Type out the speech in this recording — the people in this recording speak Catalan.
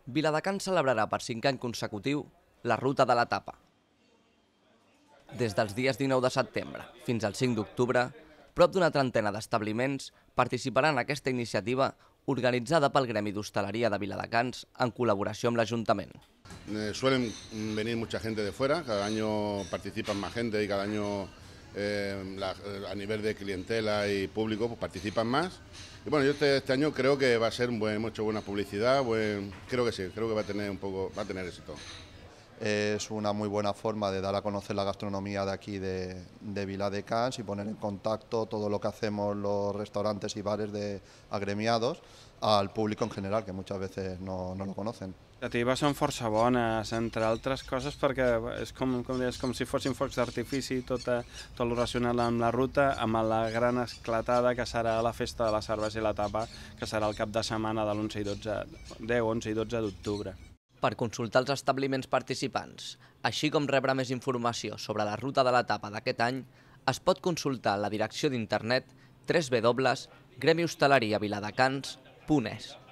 Viladecans celebrarà per 5 anys consecutiu la Ruta de la Tapa. Des dels dies 19 de setembre fins al 5 d'octubre, prop d'una trentena d'establiments participaran en aquesta iniciativa organitzada pel Gremi d'Hostaleria de Viladecans en col·laboració amb l'Ajuntament. Suelen venir mucha gente de fuera, cada año participan más gente y cada año a nivel de clientela y público pues participan más. Y bueno, yo este año creo que va a ser hemos hecho buena publicidad, creo que sí, creo que va a tener éxito. Es una muy buena forma de dar a conocer la gastronomía de aquí de Viladecans y poner en contacto todo lo que hacemos los restaurantes y bares de agremiados al público en general, que muchas veces no lo conocen. Les iniciatives són força bones, entre altres coses perquè és com si fossin focs d'artifici, tot el relacionat amb la ruta, amb la gran esclatada que serà la festa de la cervesa i la tapa, que serà el cap de setmana de l'10, 11 i 12 d'octubre. Per consultar els establiments participants, així com rebre més informació sobre la Ruta de la Tapa d'aquest any, es pot consultar la direcció d'internet www.gremihostaleriaviladecans.es.